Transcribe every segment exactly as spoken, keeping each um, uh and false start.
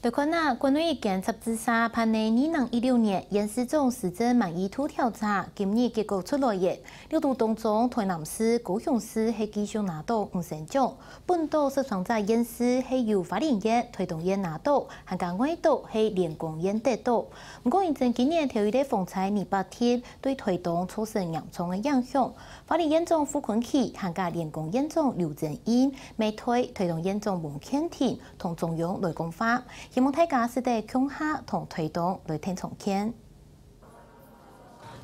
來看啊，國內一間雜誌社辦个二零一六年縣市長施政滿意度調查，今日結果出來了。六都當中，臺南市、高雄市係繼續拿到五星獎，本島十三隻縣市係由花蓮縣、臺東縣拿到，還加外島係連江縣得到。毋過，因為今年頭一个風災泥巴地對臺東造成嚴重个影響，花蓮縣長傅崐萁還加連江縣長劉增英，乜代臺東縣長翁健庭 同中央來講話，希望大家使得共下同臺東來𢯭長劍。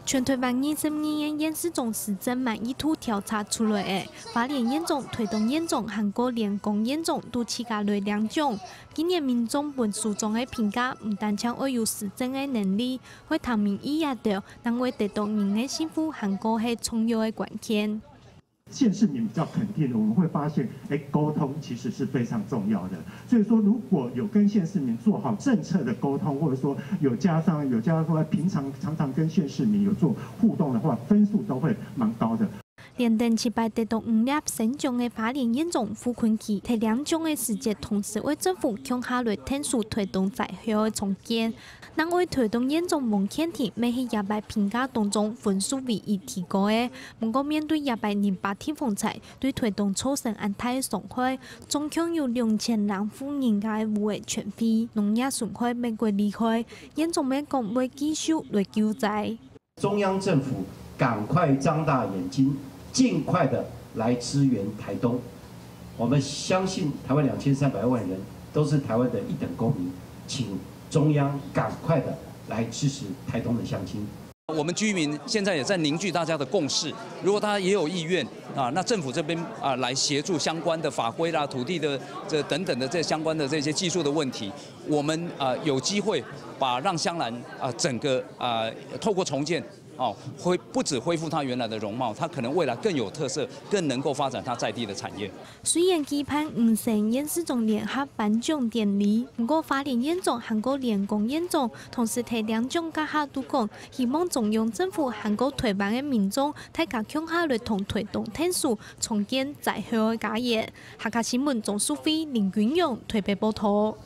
全臺灣二十二縣縣市長施政滿意度調查出來了，花蓮縣長、臺東縣長還過連江縣長都自家來領獎。今年民眾分首長个評價，毋單淨愛有施政个能力，愛聽民意這兜，正會得到人个信服，還過係重要个關鍵。 县市民比较肯定的，我们会发现，哎，沟通其实是非常重要的。所以说，如果有跟县市民做好政策的沟通，或者说有加上有加上说平常常常跟县市民有做互动的话，分数都会蛮高的。連等七擺得到五粒星獎个花蓮縣長傅崐萁，在領獎个時節，同時為政府共下來𢯭手臺東災後个重建。 另外，臺東縣長翁健庭乜係這擺評價當中分數唯一提高个。毋過，面對這擺泥巴地風災對臺東造成恁大个傷害，總共有兩千零戶人家个屋仔全毀，農業損害乜過厲害，縣長乜講會繼續來救災。中央政府趕快張大眼睛，盡快的來支援臺東。我们相信台湾两千三百万人都是台湾的一等公民，请 中央赶快的来支持台东的乡亲。我们居民现在也在凝聚大家的共识，如果大家也有意愿啊，那政府这边啊来协助相关的法规啦、土地的这等等的这相关的这些技术的问题，我们啊有机会把让香兰啊整个啊透过重建哦恢不止恢复它原来的容貌，它可能未来更有特色，更能够发展它在地的产业。 雖然舉辦五星縣市長聯合頒獎典禮，毋過花蓮縣長還過連江縣長同時在領獎該下都講，希望中央政府還過臺灣个民眾，大家共下來同臺東𢯭手，重建災後个家園。客家新聞鍾淑慧、林君勇臺北報導。